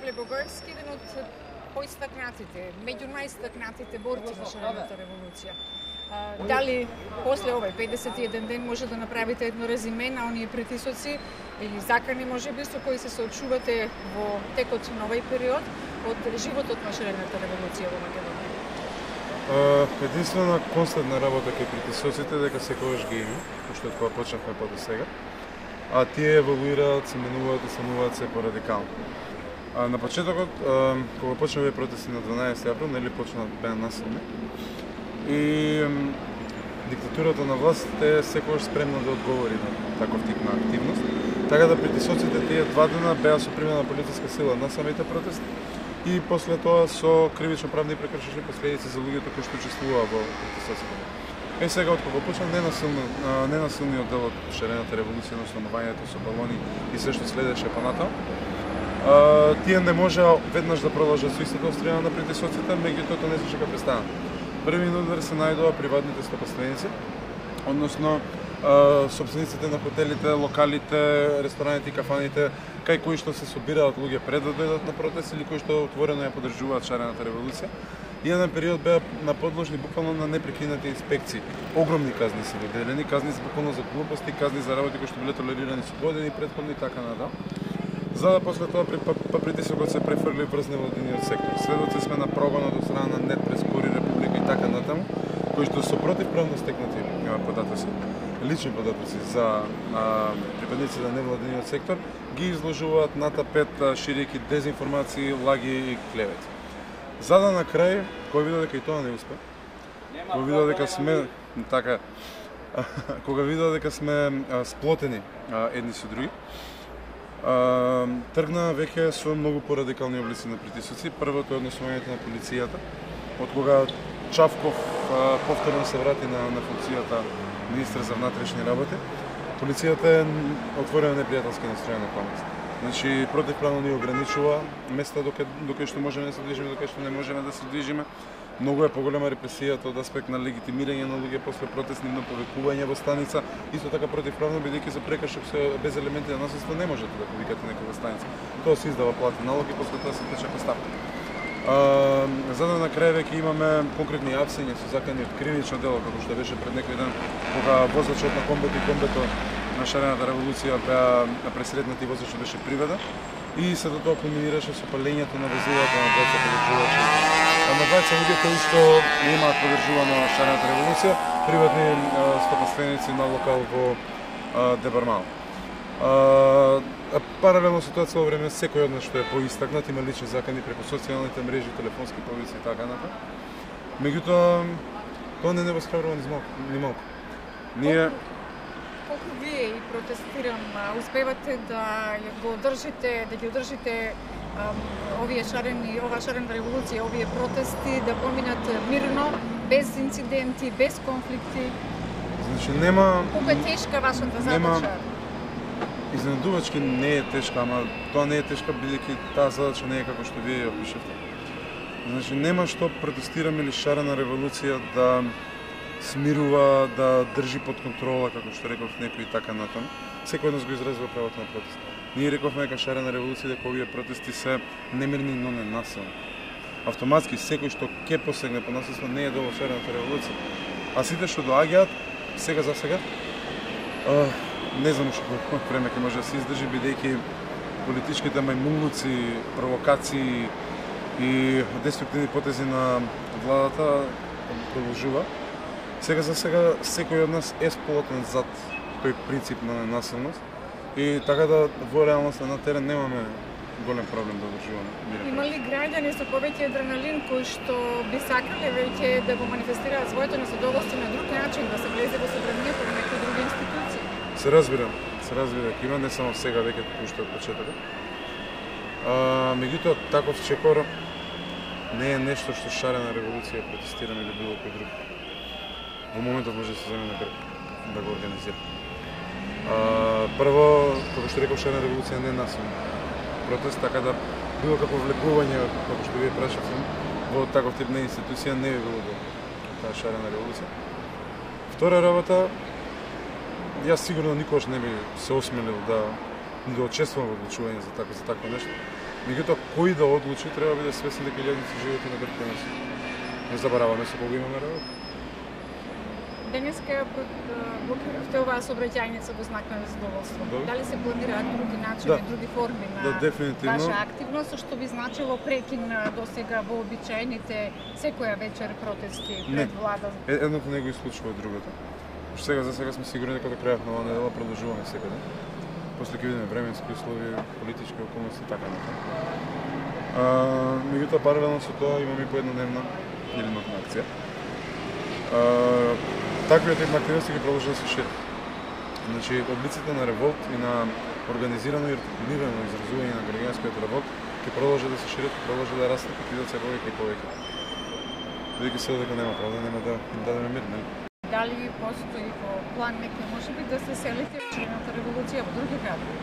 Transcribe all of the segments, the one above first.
Павле Бугарски, еден од поистакнатите, меѓу најстакнатите борци на шарената револуција. Дали после овој 51 ден може да направите едно резиме на оние притисоци или закани можеби со кои се соочувате во текот на овој период од животот на шарената револуција во Македонија? Единствена константна работа кај притисоците дека секогаш ги има, уште од кога почнавме па до сега. А тие еволуираат, се менуваат и самуваат се порадикално. На почетокот, кога почнаа протести на 12 април, нели беа насилни. И диктатурата на власт е секогаш спремна да одговори на таков тип на активност. Така да притисоците тие 2 дена беа со примена полициска сила на самите протести и после тоа со кривично-правни прекршични последици за луѓето кои што учествуваа во притисоците. Сега од кога почна ненасилниот дел од шарената револуција на основањето со балони и се што следеше понатаму, тие не можеа веднаш да продолжат со истата острина на притисоците, меѓутоа тоа не се дека престанат. Првиот удар се најдоа приватните стопанственици, односно собствениците на хотелите, локалите, рестораните и кафаните, кај кои што се собираат луѓе пред да дојдат на протест или кои што отворено ја поддржуваат шарената револуција. И еден период беа наподложни буквално на непрекинати инспекции. Огромни казни се доделени, казни буквално за глупости, казни за работи кои што биле толерирани со години претходни и така натаму. За да после тоа притисокот се префрли врз невладиниот сектор. Сведоци сме на прогонот од страна на Нетпрес, Кури, Република и така натаму, кои што со противправно стекнати податоци, лични податоци за припадници на невладиниот сектор, ги изложуваат на тапет, ширејќи дезинформации, лаги и клевети. За да на крај, кога видов дека и тоа не успе, кога видов дека сме кога видов дека сме сплотени едни со други, тргна веќе со многу порадикални облици на притисоци. Првото е однесувањето на полицијата, од кога Чавков повторно се врати на функцијата министр за внатрешни работи. Полицијата е отворена непријателски настроена кон нас. Значи, противправно ни ограничува места докај што можеме да се движиме, докај што не можеме да се движиме. Многу е поголема репресијата од аспект на легитимирање на луѓе после протест, нивно повикување во станица, исто така противправно бидејќи за прекршок без елементи на насилство не можете да повикате некоја станица. Тоа се издава платен налог и после тоа се плача ставка. За да на крај веќе имаме конкретни апсења со закани од кривично дело, како што беше пред некој ден, кога возачот на комбето и комбето на шарената револуција беа пресретнати и возачот беше приведен и се до тоа кулминираше со палењето на возилата на двајца поддржувачи. На двајца луѓе кои што имаат поддржувана шарената револуција, приватни стопанственици на локал во Дебармал. Паралелно со тоа цело време секој од нас што е поистакнат има лични закани преку социјалните мрежи, телефонски повици и така натаму. Меѓутоа тоа не восхрабрува ни малку. Ние колку вие и протестирам успевате да ги одржите ова шарена револуција, овие протести да поминат мирно, без инциденти, без конфликти? Значи нема... Колку е тешка вашата задача? Изненадувачки не е тешка, ама тоа не е тешка бидејќи таа задача не е како што вие ја опишавте. Значи нема што протестираме или шарена револуција да смирува, да држи под контрола, како што реков некој и така натаму. Секој од нас го изразува правото на протест. Ние рековме дека шарена револуција дека овие протести се немирни, но не насилни. Автоматски секој што ќе посегне по насилство не е дел од шарената револуција. А сите што доаѓаат сега за сега, не знам уште колку време ќе може да се издржи бидејќи политичките мајмунлуци, провокации и деструктивни потези на владата продолжува. Сега за сега секој од нас е сполотен зад тој принцип на ненасилност и така да во реалноста на терен немаме голем проблем да одржуваме мирен. Има ли граѓани со повеќе адреналин кои што би сакале веќе да го манифестираат своето незадоволство на друг начин, да се влезе во собранието на некои други институции? Се разбира дека има, не само сега веќе уште од почетокот. Меѓутоа таков чекор не е нешто што шарена револуција протестираме или било кој друг. Во моментот може да се земе на грб да го организира. Прво, како што реков, шарена револуција не е насилна протест, така да било како влекување, како што вие прашавте, во таков тип на институција не би било до таа шарена револуција. Втора работа, јас сигурно никогаш не би се осмелил да учествувам во одлучување за такво нешто. Меѓутоа, кој да одлучи, треба да биде свесен дека илјадници живеат на грб нас. Не забораваме со кого имаме работа. Денеска блокиравте оваа сообраќајница во знак на задоволство. Дали се планираат други начини, други форми на ваша активност, што би значило прекин досега вообичаените секоја вечер протести пред влада? Едното не го исклучува другото. За сега сме сигурни дека до крајот на оваа недела продолжуваме секаде. После ќе видиме временски услови, политички околности и така натаму. Меѓутоа паралелно со тоа имаме и по еднодневна или нотна акција. Таквиот тип активности ги продолжува да се шират. Значи, облиците на револт и на организирано и артикулирано изразување на граѓанскиот револт ќе продолжат да се шират, ќе продолжат да растат и бидат се повеќе и повеќе. Бидејќи се дека нема правда, нема да им дадеме мир, нели? Дали постои во план некој можеби да се селите во Червената револуција во други градови?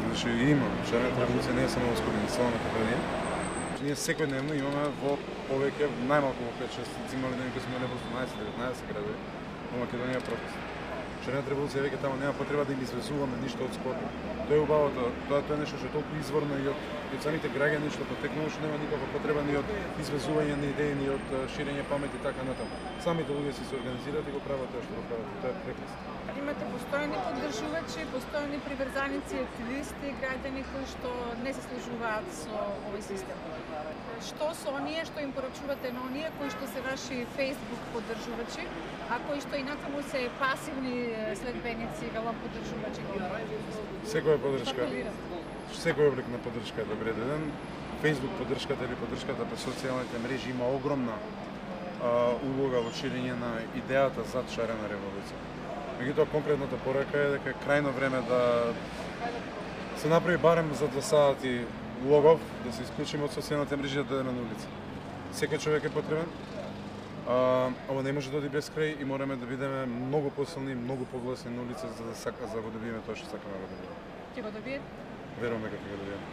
Значи има. Червената револуција не е само во Скопје, целна Македонија. Ние секојдневно имаме во повеќе, најмалку во 5-6, имале дни кои сме во 18-19 градови во Македонија протест. Червената револуција веќе таму нема потреба да им извезуваме ништо од Скопје. Тоа е убавото, тоа е нешто што е толку изворно и од самите граѓани што потекнува, што нема никаква потреба ни од извезување на идеи, ни од ширење памет и така натаму. Самите луѓе се организираат и го прават тоа што го прават. Тоа е прекрасно. Имате постојани поддржувачи, постојани приврзаници, активисти, граѓани кои што не се служуваат со овој систем. Што со оние што им порачувате на оние кои што се ваши Facebook поддржувачи, а кои што инакаму се пасивни следбеници, велам поддржувачи? Секоја поддршка, секој облик на поддршка е добре доден. Facebook поддршката или поддршката по социјалните мрежи има огромна улога во ширење на идејата зад шарена револуција. Меѓутоа, конкретната порака е дека е крајно време да се направи барем за 2 сати логов, да се исклучиме од социјалните мрежи и да дојдеме на улица. Секој човек е потребен. Ова не може да оди без крај и мораме да бидеме многу посилни, многу погласни на улица за да го добиеме тоа што сакаме да го добиеме. Ќе го добиете? Веруваме дека ќе го добиеме.